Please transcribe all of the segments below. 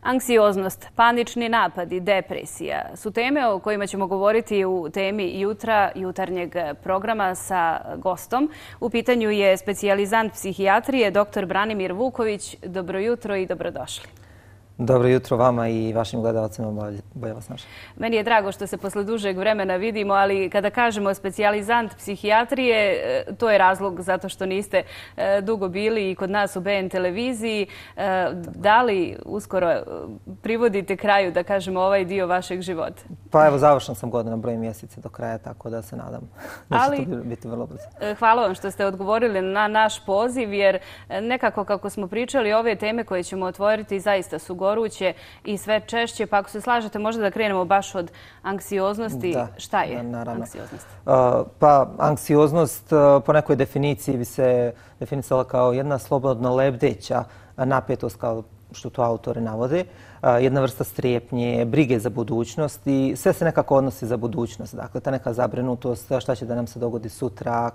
Anksioznost, panični napadi, depresija su teme o kojima ćemo govoriti u temi jutarnjeg programa sa gostom. U pitanju je specijalizant psihijatrije dr. Branimir Vuković. Dobro jutro i dobrodošli. Dobro jutro vama i vašim gledalcima. Bolje vas našli. Meni je drago što se posle dužeg vremena vidimo, ali kada kažemo specijalizant psihijatrije, to je razlog zato što niste dugo bili i kod nas u BN televiziji. Da li uskoro privodite kraju, da kažemo, ovaj dio vašeg života? Pa evo, završen sam godina broj mjeseci do kraja, tako da se nadam da će to biti vrlo brzo. Hvala vam što ste odgovorili na naš poziv, jer nekako kako smo pričali, ove teme koje ćemo otvoriti zaista su goruće i sve češće. Pa ako se slažete, možda da krenemo baš od anksioznosti. Da, šta je naravno. anksioznost? Pa anksioznost po nekoj definiciji bi se definisala kao jedna slobodno lebdeća napetost, kao što to autori navode, jedna vrsta strepnje, brige za budućnost i sve se nekako odnosi za budućnost. Dakle, ta neka zabrinutost, šta će da nam se dogodi sutra,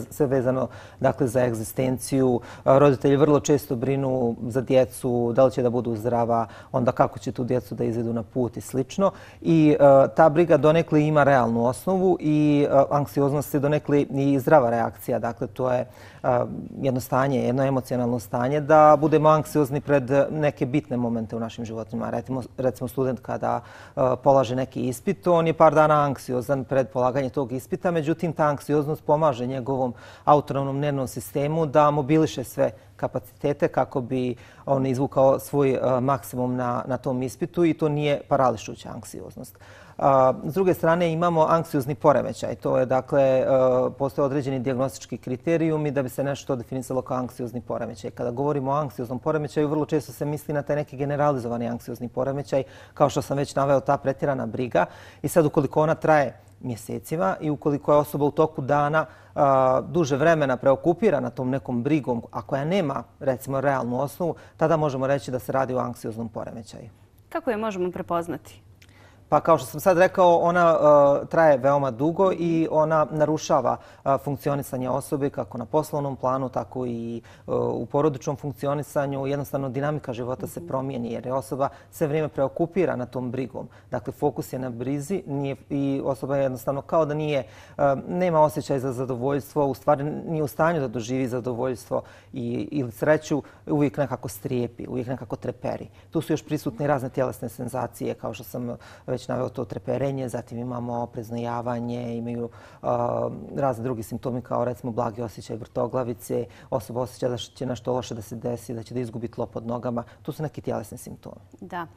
sve vezano dakle, za egzistenciju. Roditelji vrlo često brinu za djecu, da li će da budu zdrava, onda kako će tu djecu da izvedu na put i slično. I ta briga donekle ima realnu osnovu i anksioznost je donekle i zdrava reakcija. Dakle, to je jedno stanje, jedno emocionalno stanje da budemo anksiozni pred neke bitne momente u našim životima. Recimo student kada polaže neki ispit, on je par dana anksiozan pred polaganje tog ispita, međutim ta anksioznost pomaže njegovom autonomnom nervnom sistemu da mobiliše sve kapacitete kako bi on izvukao svoj maksimum na tom ispitu i to nije parališuća anksioznost. S druge strane imamo anksiozni poremećaj. To je, dakle, postoje određeni dijagnostički kriterijumi da bi se nešto definisalo kao anksiozni poremećaj. Kada govorimo o anksioznom poremećaju, vrlo često se misli na taj neki generalizovani anksiozni poremećaj, kao što sam već naveo, ta pretjerana briga. I sad, ukoliko ona traje mjesecima i ukoliko je osoba u toku dana duže vremena preokupirana tom nekom brigom, a koja nema, recimo, realnu osnovu, tada možemo reći da se radi o anksioznom poremećaju. Kako je možemo prepoznati? Pa kao što sam sad rekao, ona traje veoma dugo i ona narušava funkcionisanje osobe kako na poslovnom planu, tako i u porodičnom funkcionisanju. Jednostavno, dinamika života se promijeni jer je osoba sve vrijeme preokupirana tom brigom. Dakle, fokus je na brizi i osoba je jednostavno kao da nema osjećaj za zadovoljstvo, u stvari nije u stanju da doživi zadovoljstvo ili sreću, uvijek nekako strijepi, uvijek nekako treperi. Tu su još prisutne razne tjelesne senzacije, kao što sam već naveo, to treperenje, zatim imamo preznojavanje, imaju razni drugi simptomi kao recimo blagi osjećaj vrtoglavice, osoba osjeća da će nešto loše da se desi, da će da izgubi tlo pod nogama. To su neki tjelesni simptomi. Da.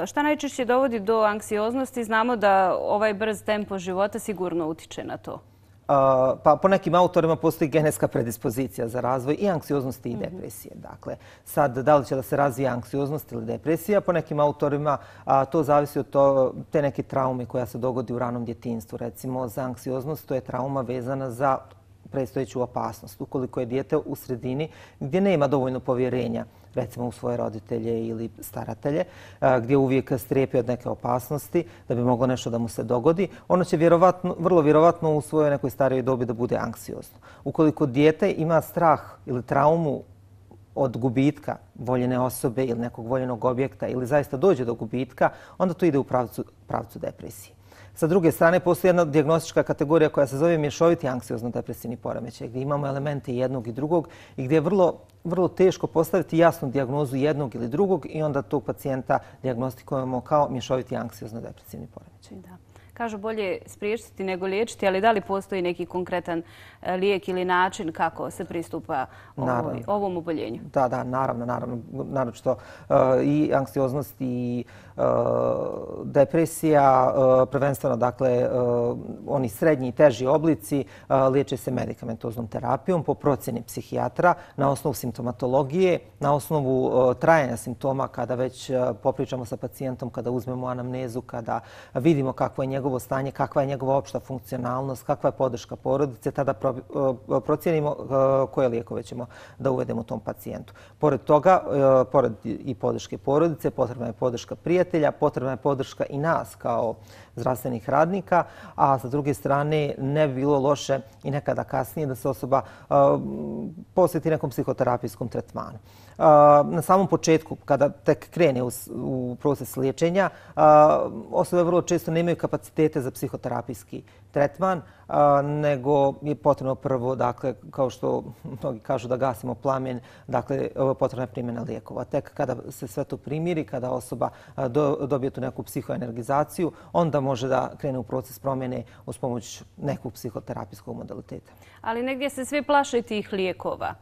Šta najčešće dovodi do anksioznosti? Znamo da ovaj brz tempo života sigurno utiče na to. Pa po nekim autorima postoji genetska predispozicija za razvoj i anksioznosti i depresije. Dakle, sad da li će da se razvije anksioznost ili depresija, po nekim autorima to zavisi od te neke traume koja se dogodi u ranom djetinjstvu. Recimo, za anksioznost to je trauma vezana za predstojeću opasnost. Ukoliko je dijete u sredini gdje nema dovoljno povjerenja, recimo u svoje roditelje ili staratelje, gdje uvijek strepi od neke opasnosti da bi moglo nešto da mu se dogodi, ono će vrlo vjerovatno u svojoj nekoj starijoj dobi da bude anksiozno. Ukoliko dijete ima strah ili traumu od gubitka voljene osobe ili nekog voljenog objekta ili zaista dođe do gubitka, onda to ide u pravcu depresije. Sa druge strane, postoji jedna dijagnostička kategorija koja se zove mješoviti anksiozno-depresivni poremećaj, gdje imamo elemente jednog i drugog i gdje je vrlo teško postaviti jasnu dijagnozu jednog ili drugog i onda tog pacijenta dijagnostikujemo kao mješoviti anksiozno-depresivni poremećaj. Da. Kažu bolje spriječiti nego liječiti, ali da li postoji neki konkretan lijek ili način kako se pristupa ovom oboljenju? Da, naravno. Naročito i anksioznost i depresija, prvenstveno, dakle, oni srednji i teži oblici liječe se medikamentoznom terapijom po procjeni psihijatra na osnovu simptomatologije, na osnovu trajanja simptoma kada već popričamo sa pacijentom, kada uzmemo anamnezu, kada vidimo kakvo je njegovo stanje, kakva je njegova opšta funkcionalnost, kakva je podrška porodice, tada procijenimo koje lijekove ćemo da uvedemo tom pacijentu. Pored toga, pored i podrške porodice, potrebna je podrška prijatelja, potrebna je podrška i nas kao zdravstvenih radnika, a sa druge strane ne bi bilo loše i nekada kasnije da se osoba posveti nekom psihoterapijskom tretmanu. Na samom početku, kada tek krene u proces liječenja, osobe vrlo često nemaju kapacitete za psihoterapijski tretman, nego je potrebno prvo, dakle, kao što mnogi kažu da gasimo plamen, dakle, potrebna je primjena lijekova. Tek kada se sve to primiri, kada osoba dobije tu neku psihoenergizaciju, onda može da krene u proces promjene uz pomoć nekog psihoterapijskog modaliteta. Ali negdje se svi plaše tih lijekova.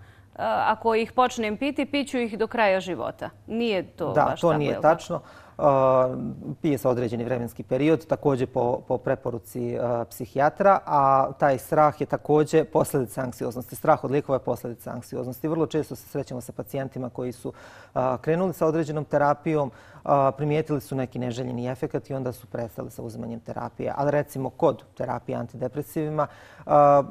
Ako ih počnem piti, piću ih do kraja života. Nije to baš tako? Da, to nije tačno. Pije se određeni vremenski period, također po preporuci psihijatra, a taj strah je također posljedica anksioznosti. Strah od lijekova je posljedica anksioznosti. Vrlo često se srećemo sa pacijentima koji su krenuli sa određenom terapijom, primijetili su neki neželjeni efekat i onda su prestali sa uzimanjem terapije. Ali recimo kod terapije antidepresivima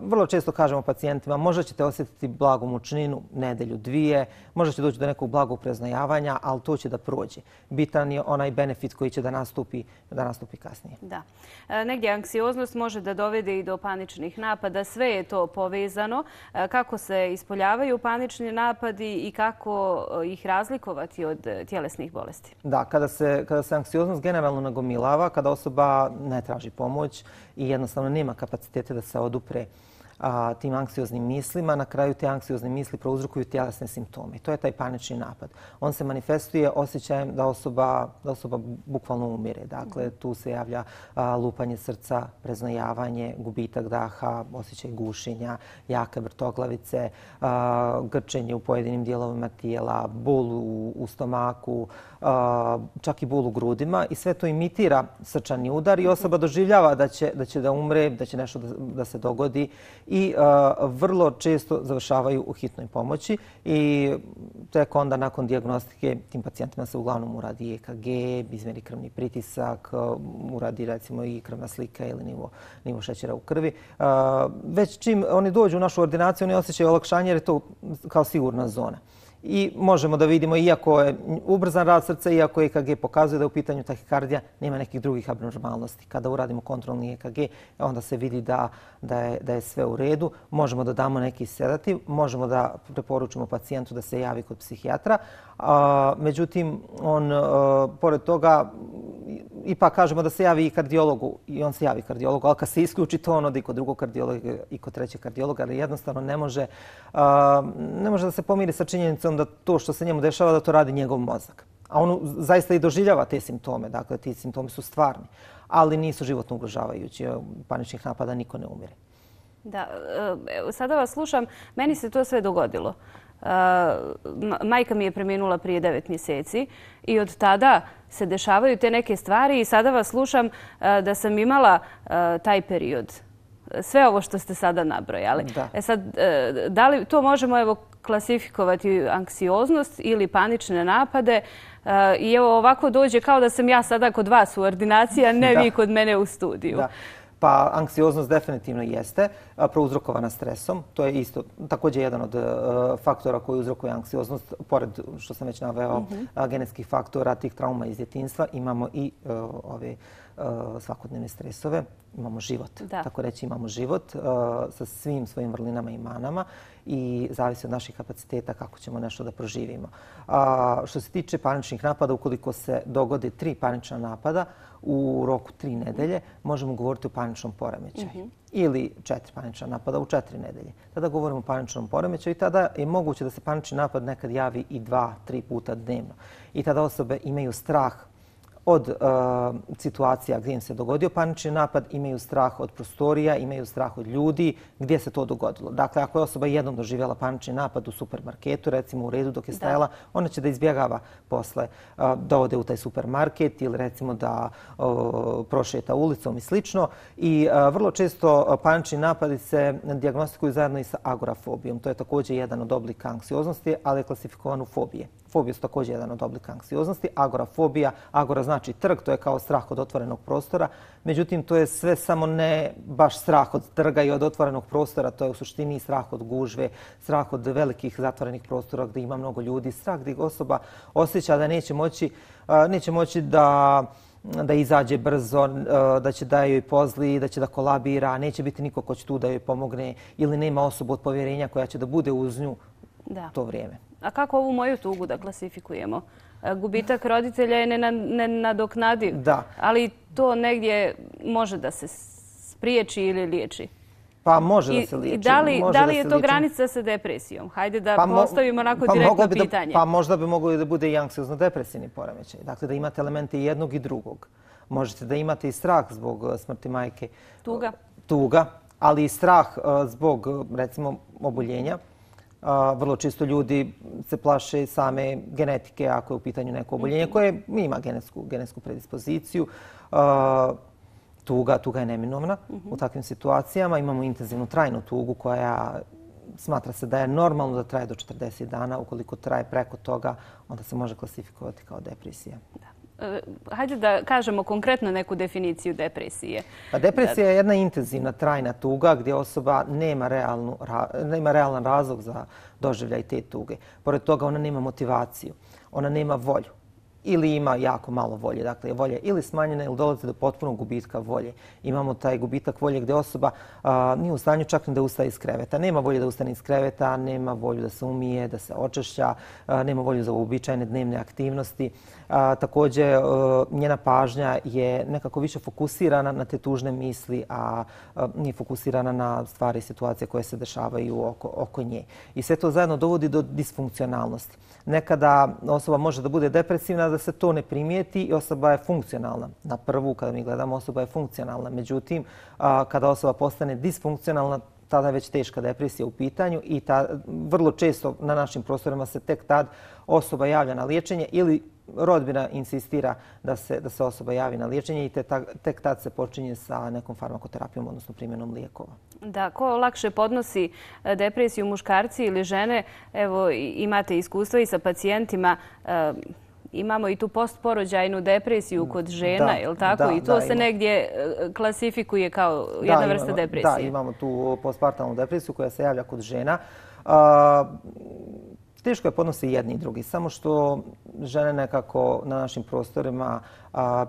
vrlo često kažemo pacijentima možda ćete osjetiti blagu mučninu nedelju, dvije, možda će doći do nekog blagog preznojavanja, ali to će da prođe. Bitan je onaj benefit koji će da nastupi kasnije. Da. Negdje anksioznost može da dovede i do paničnih napada. Sve je to povezano. Kako se ispoljavaju panični napadi i kako ih razlikovati od tjelesnih bolesti? Da, kada se anksioznost generalno nagomilava, kada osoba ne traži pomoć i jednostavno nema kapacitete da se odupre tim anksioznim mislima, na kraju te anksiozne misli prouzrokuju tjelesne simptome. To je taj panični napad. On se manifestuje osjećajem da osoba bukvalno umire. Dakle, tu se javlja lupanje srca, preznojavanje, gubitak daha, osjećaj gušenja, jake vrtoglavice, grčenje u pojedinim dijelovima tijela, bol u stomaku, čak i bol u grudima i sve to imitira srčani udar i osoba doživljava da će da umre, da će nešto da se dogodi i vrlo često završavaju u hitnoj pomoći i tek onda nakon dijagnostike tim pacijentima se uglavnom uradi EKG, izmjeri krvni pritisak, uradi recimo i krvna slika ili nivo šećera u krvi. Već čim oni dođu u našu ordinaciju, oni osjećaju olakšanje jer je to kao sigurna zona. I možemo da vidimo, iako je ubrzan rad srca, iako EKG pokazuje da je u pitanju tahikardija, nema nekih drugih abnormalnosti. Kada uradimo kontrolni EKG, onda se vidi da je sve u redu. Možemo da damo neki sedativ, možemo da preporučimo pacijentu da se javi kod psihijatra. Međutim, on, pored toga, ipak kažemo da se javi i kardiologu i on se javi kardiologu, ali kad se isključi to, on ode i kod drugog kardiologa i kod trećeg kardiologa, ali jednostavno ne može da se pomiri sa činjenicom da to što se njemu dešava, da to radi njegov mozak. A on zaista i doživljava te simptome, dakle ti simptomi su stvarni, ali nisu životno ugrožavajući. Paničnih napada niko ne umire. Da, sada vas slušam, meni se to sve dogodilo. Majka mi je preminula prije 9 mjeseci i od tada se dešavaju te neke stvari i sada vas slušam da sam imala taj period. Sve ovo što ste sada nabrojali. Sad, da li to možemo klasifikovati anksioznost ili panične napade? I evo ovako dođe kao da sam ja sada kod vas u ordinaciji, a ne vi kod mene u studiju. Da. Pa anksioznost definitivno jeste prouzrokovana stresom. To je isto također jedan od faktora koji uzrokuje anksioznost. Pored, što sam već naveo, genetskih faktora, tih trauma iz djetinjstva, imamo i ove svakodnevne stresove. Imamo život. Tako reći, imamo život sa svim svojim vrlinama i manama i zavisi od naših kapaciteta kako ćemo nešto da proživimo. Što se tiče paničnih napada, ukoliko se dogode 3 panična napada u roku 3 nedelje, možemo govoriti o paničnom poremećaju. Ili 4 panična napada u 4 nedelje. Tada govorimo o paničnom poremećaju i tada je moguće da se panični napad nekad javi i 2-3 puta dnevno. I tada osobe imaju strah od situacija gdje im se dogodio panični napad, imaju strah od prostorija, imaju strah od ljudi, gdje se to dogodilo. Dakle, ako je osoba jednom doživjela panični napad u supermarketu, recimo u redu dok je stajala, ona će da izbjegava posle da ode u taj supermarket ili recimo da prošeta ulicom i slično. I vrlo često panični napadi se dijagnostikuju zajedno i sa agorafobijom. To je također jedan od oblika anksioznosti, ali je klasifikovan u fobije. Fobije su također jedan od oblika anksioznosti. Agorafobija, agora znači trg, to je kao strah od otvorenog prostora. Međutim, to je sve samo ne baš strah od trga i od otvorenog prostora. To je u suštini strah od gužve, strah od velikih zatvorenih prostora gdje ima mnogo ljudi, strah gdje osoba osjeća da neće moći da izađe brzo, da će da joj pozli, da će da kolabira, neće biti niko ko će tu da joj pomogne ili nema osobu od povjerenja koja će da bude uz nju to vrijeme. A kako ovu moju tugu da klasifikujemo? Gubitak roditelja je nenadoknadiv, ali to negdje može da se spriječi ili liječi. Pa može da se liječi. Da li je to granica sa depresijom? Hajde da postavimo onako direktno pitanje. Pa možda bi moglo da bude i anksiozno-depresivni poremećaj. Dakle, da imate elemente i jednog i drugog. Možete da imate i strah zbog smrti majke. Tuga, ali i strah zbog, recimo, oboljenja. Vrlo često ljudi se plaše same genetike ako je u pitanju neko oboljenje koje ima genetsku predispoziciju. Tuga je neminovna u takvim situacijama. Imamo intenzivnu trajnu tugu koja smatra se da je normalno da traje do 40 dana. Ukoliko traje preko toga, onda se može klasifikovati kao depresija. Hajde da kažemo konkretno neku definiciju depresije. Depresija je jedna intenzivna trajna tuga gdje osoba nema realan razlog za doživljaj te tuge. Pored toga ona nema motivaciju, ona nema volju ili ima jako malo volje. Dakle, volja je ili smanjena ili dolazi do potpunog gubitka volje. Imamo taj gubitak volje gdje osoba nije u stanju čak ni da ustaje iz kreveta. Nema volje da ustane iz kreveta, nema volju da se umije, da se očešlja, nema volju za uobičajene dnevne aktivnosti. Također, njena pažnja je nekako više fokusirana na te tužne misli, a nije fokusirana na stvari i situacije koje se dešavaju oko nje. I sve to zajedno dovodi do disfunkcionalnosti. Nekada osoba može da bude depresivna, da se to ne primijeti i osoba je funkcionalna. Na prvu, kada mi gledamo, osoba je funkcionalna. Međutim, kada osoba postane disfunkcionalna, tada je već teška depresija u pitanju i vrlo često na našim prostorima se tek tad osoba javlja na liječenje ili rodbina insistira da se osoba javi na liječenje i tek tad se počinje sa nekom farmakoterapijom, odnosno primjenom lijekova. Da, ko lakše podnosi depresiju, muškarci ili žene? Evo, imate iskustva i sa pacijentima. Imamo i tu postporođajnu depresiju kod žena, je li tako? I to se negdje klasifikuje kao jedna vrsta depresije. Da, imamo tu postpartalnu depresiju koja se javlja kod žena. Teško je podnosi jedni i drugi, samo što žene nekako na našim prostorima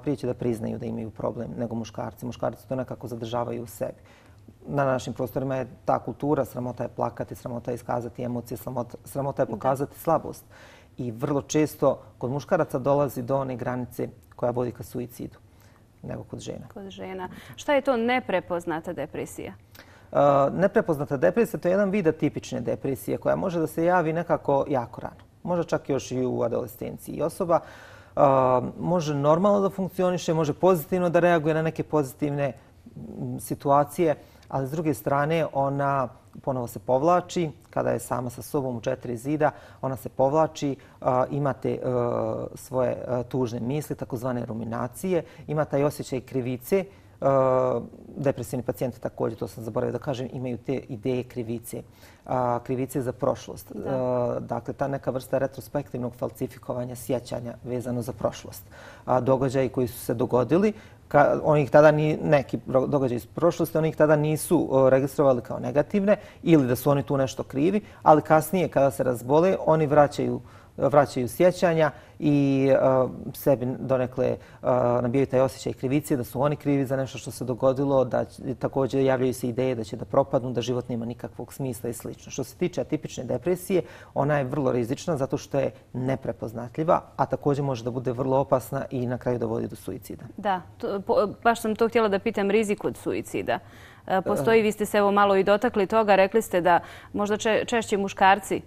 prije će da priznaju da imaju problem nego muškarci. Muškarci to nekako zadržavaju u sebi. Na našim prostorima je ta kultura, sramota je plakati, sramota je iskazati emocije, sramota je pokazati slabost. I vrlo često kod muškaraca dolazi do one granice koja vodi ka suicidu nego kod žena. Kod žena. Šta je to neprepoznata depresija? Neprepoznata depresija to je jedan vid atipične depresije koja može da se javi nekako jako rano. Može čak još i u adolescenciji. I osoba može normalno da funkcioniše, može pozitivno da reaguje na neke pozitivne situacije, ali s druge strane ona ponovo se povlači. Kada je sama sa sobom u 4 zida, ona se povlači, imate svoje tužne misli, takozvane ruminacije, ima taj osjećaj krivice. Depresivni pacijenti također, to sam zaboravila da kažem, imaju te ideje krivice. Krivice za prošlost. Dakle, ta neka vrsta retrospektivnog falsifikovanja sjećanja vezano za prošlost. Događaji koji su se dogodili, neki događaji iz prošlosti, oni ih tada nisu registrovali kao negativne ili da su oni tu nešto krivi, ali kasnije kada se razbole, oni vraćaju sjećanja i sebi donekle nabijaju taj osjećaj krivice, da su oni krivi za nešto što se dogodilo, da također javljaju se ideje da će da propadnu, da život nema nikakvog smisla i sl. Što se tiče atipične depresije, ona je vrlo rizična zato što je neprepoznatljiva, a također može da bude vrlo opasna i na kraju dovodi do suicida. Da, baš sam to htjela da pitam, rizik od suicida. Postoji, vi ste se evo malo i dotakli toga, rekli ste da možda češće muškarci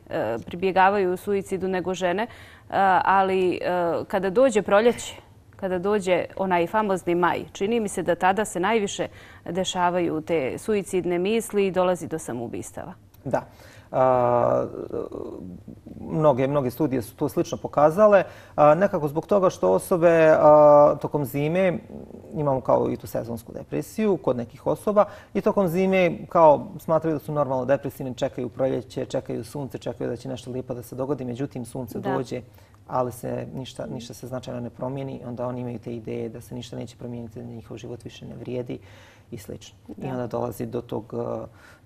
pribjegavaju suicidu nego žene, ali kada dođe proljeće, kada dođe onaj famozni maj, čini mi se da tada se najviše dešavaju te suicidne misli i dolazi do samoubistava. Da. Mnoge studije su to slično pokazale. Nekako zbog toga što osobe tokom zime, imamo kao i tu sezonsku depresiju kod nekih osoba, i tokom zime kao smatraju da su normalno depresivni, čekaju proljeće, čekaju sunce, čekaju da će nešto lijepo da se dogodi, međutim sunce dođe, ali se ništa se značajno ne promijeni, onda oni imaju te ideje da se ništa neće promijeniti, da njihov život više ne vrijedi i sl. I onda dolazi do tog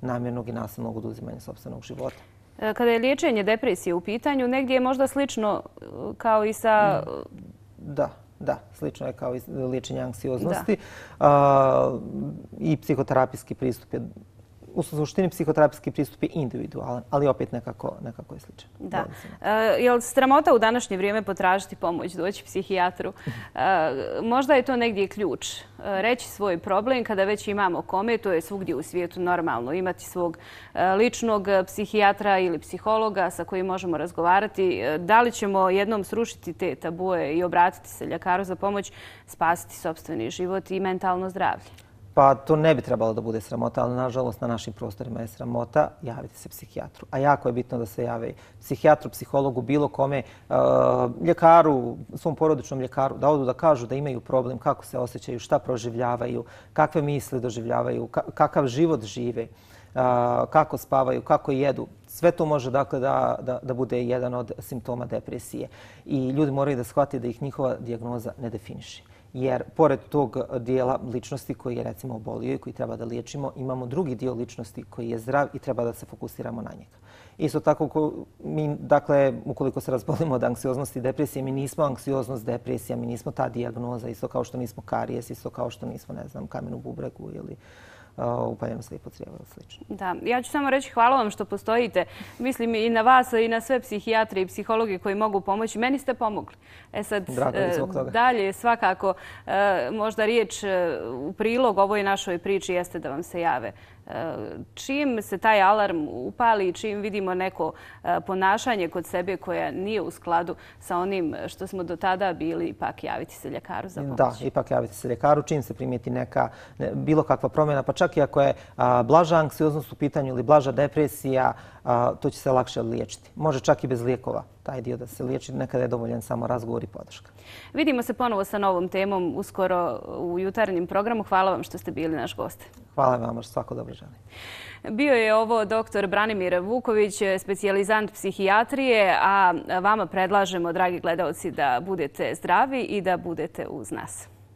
namjernog i nasilnog oduzimanja sopstvenog života. Kada je liječenje depresije u pitanju, negdje je možda slično kao i sa... Da, slično je kao i liječenje anksioznosti. I psihoterapijski pristup je u suštini psihoterapijski pristup je individualan, ali opet nekako je sličan. Da. Je li sramota u današnje vrijeme potražiti pomoć, doći psihijatru? Možda je to negdje ključ. Reći svoj problem kada već imamo kome, to je svugdje u svijetu normalno. Imati svog ličnog psihijatra ili psihologa sa kojim možemo razgovarati. Da li ćemo jednom srušiti te tabue i obratiti se ljekaru za pomoć, spasiti sopstveni život i mentalno zdravlje? Pa to ne bi trebalo da bude sramota, ali nažalost na našim prostorima je sramota javiti se psihijatru. A jako je bitno da se jave psihijatru, psihologu, bilo kome, ljekaru, svom porodičnom ljekaru, da odu da kažu da imaju problem, kako se osjećaju, šta proživljavaju, kakve misli doživljavaju, kakav život žive, kako spavaju, kako jedu. Sve to može dakle da bude jedan od simptoma depresije. I ljudi moraju da shvate da ih njihova dijagnoza ne definiše. Jer pored tog dijela ličnosti koji je recimo obolio i koji treba da liječimo, imamo drugi dio ličnosti koji je zdrav i treba da se fokusiramo na njega. Isto tako, dakle, ukoliko se razbolimo od anksioznosti i depresije, mi nismo anksioznost, depresija, mi nismo ta dijagnoza, isto kao što nismo karijes, isto kao što nismo, ne znam, kamen u bubregu ili upaljeno slijepo crijevo ili slično. Da, ja ću samo reći hvala vam što postojite. Mislim i na vas i na sve psihijatre i psihologe koji mogu pomoći. Meni ste pomogli. Sad, dalje svakako možda riječ u prilog ovoj našoj priči jeste da vam se jave. Čim se taj alarm upali, čim vidimo neko ponašanje kod sebe koja nije u skladu sa onim što smo do tada bili, ipak javiti se ljekaru za pomoć. Da, ipak javiti se ljekaru. Čim se primijeti bilo kakva promjena, pa čak i ako je blaža anksioznost u pitanju ili blaža depresija, to će se lakše liječiti. Može čak i bez lijekova taj dio da se liječi. Nekada je dovoljan samo razgovor i podrška. Vidimo se ponovo sa novom temom uskoro u jutarnjem programu. Hvala vam što ste bili naš gost. Hvala vam, što svako dobro želim. Bio je ovo dr. Branimir Vuković, specijalizant psihijatrije, a vama predlažemo, dragi gledalci, da budete zdravi i da budete uz nas.